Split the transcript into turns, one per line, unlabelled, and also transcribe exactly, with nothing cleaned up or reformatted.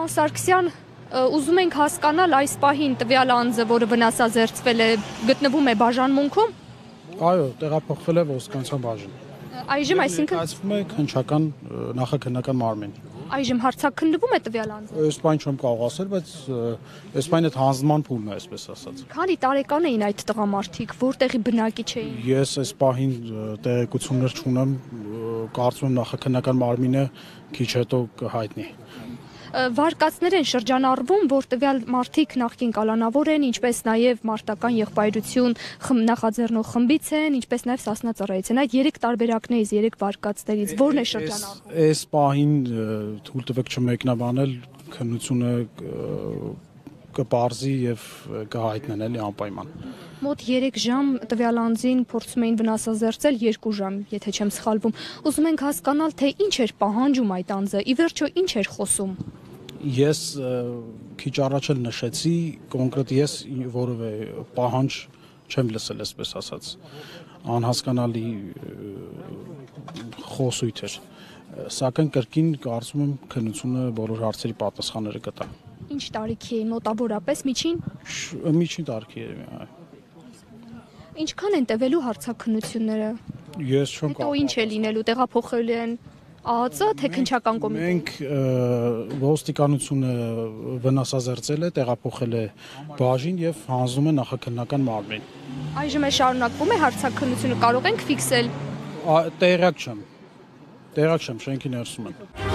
Պարոն Սարգսյան, ուզում ենք հասկանալ այս պահին տվյալ անձը, որը վնասազերծվել է, գտնվում է բաժանմունքում։
Այո, տեղափոխվել է ոստիկանության բաժին։
Այժմ այսինքն
Այցվում է քննչական նախաքննական մարմին։
Այժմ հարցաքննվում է տվյալ անձը։
Այս բան չեմ կարող ասել, բայց այս բանը այդ հանձնման փուլն է, այսպես ասած։
Քանի տարեկան էին այդ տղամարդիկ, որտեղի բնակիչ էին։
Ես այս պահին տեղեկություններ չունեմ, կարծում եմ նախաքննական մարմինը քիչ հետո կհայտնի։
Վարկածներ են շրջանառվում, որ տվյալ մարդիկ նախկին կալանավոր են, ինչպես նաև մարտական եղբայրություն նախաձեռնող խմբից են, ինչպես նաև Սասնա ծառայից են։ Այդ երեք տարբերակներից, երեք վարկածներից ո՞րն է շրջանառվում։
Այս պահին թույլ տվեք չմեկնաբանել, քննությունը կպարզի եւ կհայտնեն էլի անպայման։
Մոտ երեք ժամ տվյալ անձին փորձում էին վնասազերծել, երկու ժամ, եթե չեմ սխալվում։ Ուզում ենք հասկանալ, թե ինչ էր պահանջում այդ անձը, ի վերջո ինչ էր խոսում։
Ես քիչ առաջ էլ նշեցի, կոնկրետ ես որևէ պահանջ չեմ լսել, այսպես ասած, անհասկանալի խոսույթ էր, սակայն կրկին կարծում եմ քննությունը բոլոր հարցերի պատասխանները կտա։
Ինչ տարիքի է մոտավորապես միջին։
Միջին տարիքի է։
Ինչքան են տևելու հարցաքննությունները։
Ես չեմ
կարող։ Հետո ինչ է լինելու, տեղափոխել են ԱԱԾ, թե քննչական կոմիտե։
Մենք ոստիկանությունը վնասազերծել է, տեղափոխել է բաժին եւ հանձնում է նախաքննական մարմին։
Այժմ է շարունակվում է հարցաքննությունը, կարող ենք ֆիքսել։
Տեղյակ չեմ։ Տեղյակ չեմ, շենքի ներսում եմ։